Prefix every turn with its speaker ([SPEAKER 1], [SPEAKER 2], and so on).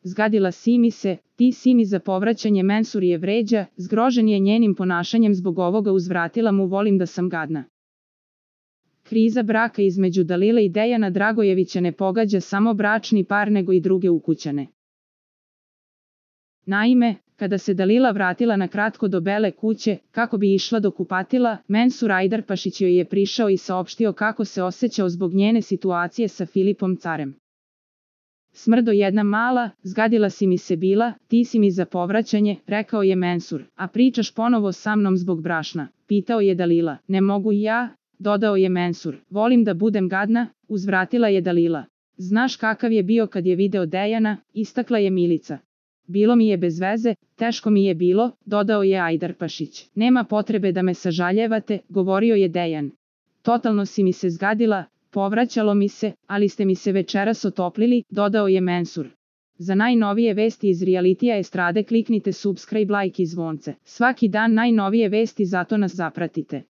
[SPEAKER 1] zgadila si mi se, ti si mi za povraćanje. Mensur je vređa, zgrožen je njenim ponašanjem, zbog ovoga uzvratila mu volim da sam gadna. Kriza braka između Dalile i Dejana Dragojevića ne pogađa samo bračni par nego i druge ukućane. Naime, kada se Dalila vratila na kratko do Bele kuće, kako bi išla do kupatila, Mensur Ajdarpašić joj je prišao i saopštio kako se osjećao zbog njene situacije sa Filipom Carem. Smrdo jedna mala, zgadila si mi se bila, ti si mi za povraćanje, rekao je Mensur, a pričaš ponovo sa mnom zbog brašna, pitao je Dalila. Ne mogu i ja, dodao je Mensur, volim da budem gadna, uzvratila je Dalila. Znaš kakav je bio kad je video Dejana, istakla je Milica. Bilo mi je bez veze, teško mi je bilo, dodao je Ajdarpašić. Nema potrebe da me sažaljevate, govorio je Dejan. Totalno si mi se zgadila, povraćalo mi se, ali ste mi se večeras otoplili, dodao je Mensur. Za najnovije vesti iz realitija estrade kliknite subscribe, like i zvonce. Svaki dan najnovije vesti, zato nas zapratite.